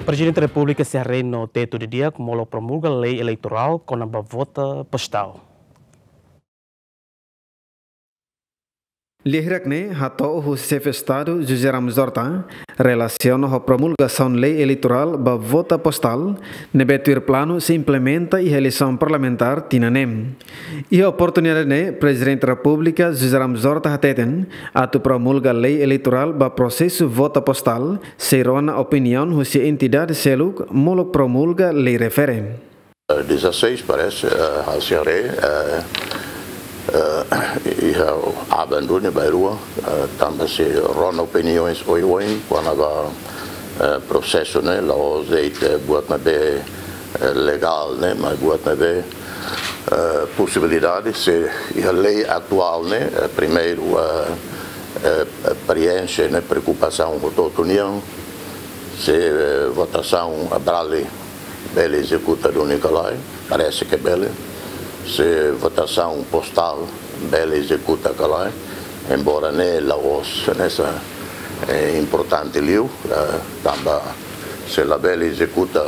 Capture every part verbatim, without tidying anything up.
Prezidente Repúblika sei haree no tetu didi'ak molok promulga lei eleitorál kona-ba vota postál. Lia hirak ne'e hato'o husi Xefe Estadu José Ramos Horta relasiona ho promulgasaun lei eleitorál ba vota postál ne'ebé tuir planu sei implementa iha eleisaun parlamentár tinan ne'e. Iha oportunidade ne'e, Prezidente Repúblika José Ramos Horta hateten, atu promulga lei eleitorál ba prosesu vota postál sei rona opiniaun husi entidade seluk molok promulga lei refere. Dezasseis, parese, eh, ha'u sei haree, eh, eh, iha aban duni bainrua, eh, tanba sei rona opiniaun oioin kona-ba, eh, prosesu ne'e, la'ós de'it buat ne'ebé, eh, legál ne'e, mas buat ne'ebé, eh, posibilidade, se iha lei atuál ne'e, eh, primeiru, eh, eh, preenxe ne'e preokupasaun hotu-hotu nian, se, eh, votasaun Abrali bele ezekuta duni ka lae, parese ke bele. Se votasaun postál bele ezekuta ka lae, embora ne'e la'ós hanesan, eh, importante liu, eh, tanba se la bele ezekuta,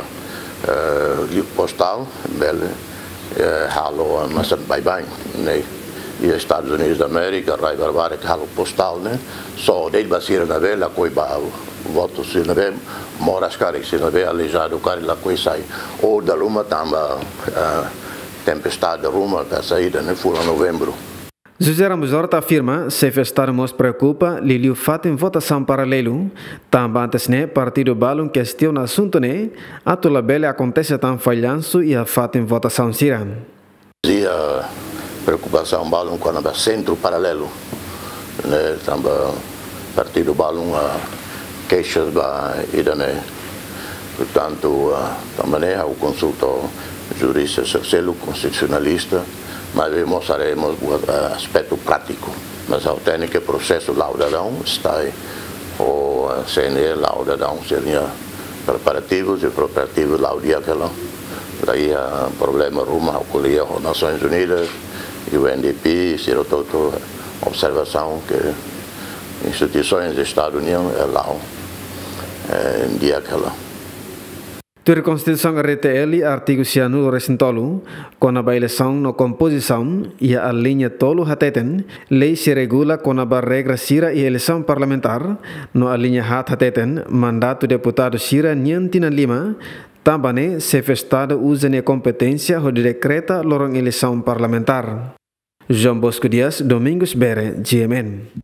eh, liu postál, bele, eh, halo, eh, hanesan baibain, ne'e. Iha Estadus Unidus da Amérika, rai barbarak halo postál ne'e, só de'it ba sira ne'ebé lakohi ba votu, sira ne'ebé moras karik, sira ne'ebé aleijadu karik lakohi sai. Ou dala ruma tanba, eh, tempestade ruma ka saida ne'e fulan Novembru. José Ramos Horta afirma, Xefe Estadu mós preokupa liuliu fatin votasaun paralelu, tanba antes ne'e partidu balun kestiona asuntu ne'e, atu labele akontese tan fallansu iha fatin votasaun sira. Iha preokupasaun balun kona-ba sentru paralelu, ne'e, tanba partidu balun, ah, keixa ba ida-ne'e. Portantu, ah, tanba ne'e ha'u konsulta jurista seluk, konstitusionalista, maibé mós haree mós buat, ah, aspetu prátiku. Mas ha'u hatene ke prosesu la'o daudaun, STAE ho, ah, C N E la'o daudaun sira-nia preparativus i preparativus la'o di'ak hela. La iha problema ruma, ha'u ko'alia ho Nasoins Unidas, U N D P, sira hotu-hotu observasaun ke instituisoens Estadu nian, eh, la'o, eh, di'ak hela. Tuir Konstituisaun R D T L, artigu sianulu resin tolu, kona-ba eleisaun no kompozisaun, iha aliña tolu hateten, lei sei regula kona-ba regra sira iha eleisaun parlamentár, no aliña haat hateten, mandatu deputadu sira nian tinan lima, tanba ne'e Xefe Estadu uza nia kompeténsia hodi dekreta loron eleisaun parlamentár. João Bosco Dias, Domingos Bere, G M N.